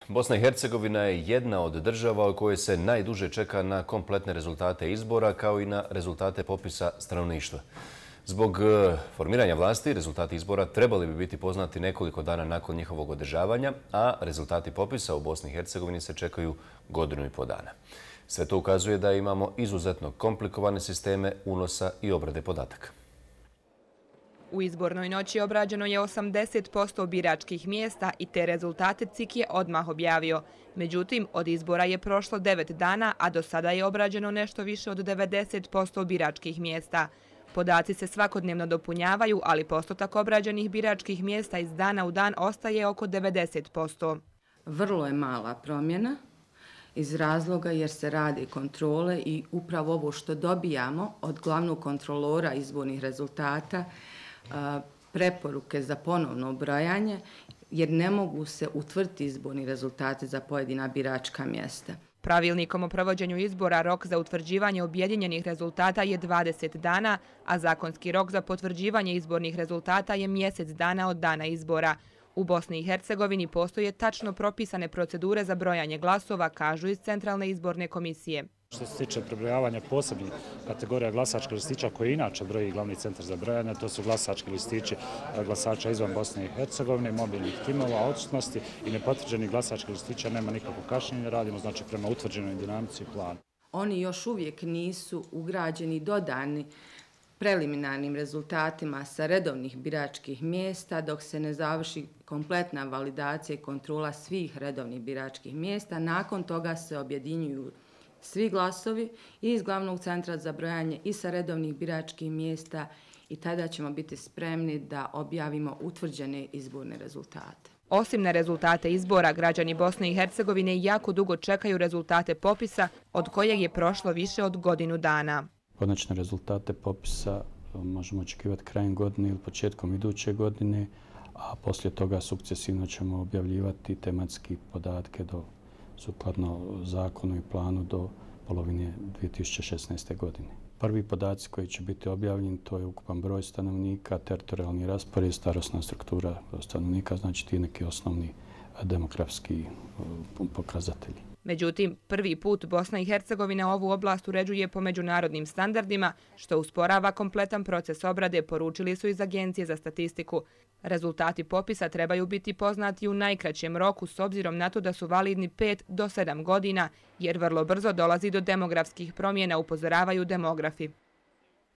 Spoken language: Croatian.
Bosna i Hercegovina je jedna od država u kojoj se najduže čeka na kompletne rezultate izbora kao i na rezultate popisa stanovništva. Zbog formiranja vlasti, rezultati izbora trebali bi biti poznati nekoliko dana nakon njihovog održavanja, a rezultati popisa u Bosni i Hercegovini se čekaju 1,5 dana. Sve to ukazuje da imamo izuzetno komplikovane sisteme unosa i obrade podataka. U izbornoj noći obrađeno je 80% biračkih mjesta i te rezultate CIK je odmah objavio. Međutim, od izbora je prošlo 9 dana, a do sada je obrađeno nešto više od 90% biračkih mjesta. Podaci se svakodnevno dopunjavaju, ali postotak obrađenih biračkih mjesta iz dana u dan ostaje oko 90%. Vrlo je mala promjena iz razloga jer se radi kontrole i upravo ovo što dobijamo od glavnog kontrolora izbornih rezultata, preporuke za ponovno brojanje, jer ne mogu se utvrditi izborni rezultati za pojedina biračka mjesta. Pravilnikom o provođenju izbora rok za utvrđivanje objedinjenih rezultata je 20 dana, a zakonski rok za potvrđivanje izbornih rezultata je mjesec dana od dana izbora. U Bosni i Hercegovini postoje tačno propisane procedure za brojanje glasova, kažu iz Centralne izborne komisije. Što se tiče prebrojavanja posebnih kategorija glasačkih listića koje inače broji glavni centar za brojanje, to su glasački listići glasača izvan Bosne i Hercegovine, mobilnih timova, odsutnosti i nepotvrđenih glasačkih listića nema nikakvog kašnjenja, radimo znači prema utvrđenoj dinamici i planu. Oni još uvijek nisu ugrađeni dodani preliminarnim rezultatima sa redovnih biračkih mjesta dok se ne završi kompletna validacija i kontrola svih redovnih biračkih mjesta. Nakon toga se objedinjuju svi glasovi i iz glavnog centra za brojanje i sa redovnih biračkih mjesta i tada ćemo biti spremni da objavimo utvrđene izborne rezultate. Osim na rezultate izbora, građani Bosne i Hercegovine jako dugo čekaju rezultate popisa, od kojeg je prošlo više od 1 dana. Konačne rezultate popisa možemo očekivati krajem godine ili početkom iduće godine, a poslije toga sukcesivno ćemo objavljivati tematski podatke sukladno zakonu i planu do polovine 2016. godine. Prvi podaci koji će biti objavljeni to je ukupan broj stanovnika, teritorijalni raspored, starosna struktura stanovnika, znači ti neki osnovni demografski pokazatelji. Međutim, prvi put Bosna i Hercegovina ovu oblast uređuje po međunarodnim standardima, što usporava kompletan proces obrade, poručili su iz Agencije za statistiku. Rezultati popisa trebaju biti poznati u najkraćem roku s obzirom na to da su validni 5 do 7 godina, jer vrlo brzo dolazi do demografskih promjena, upozoravaju demografi.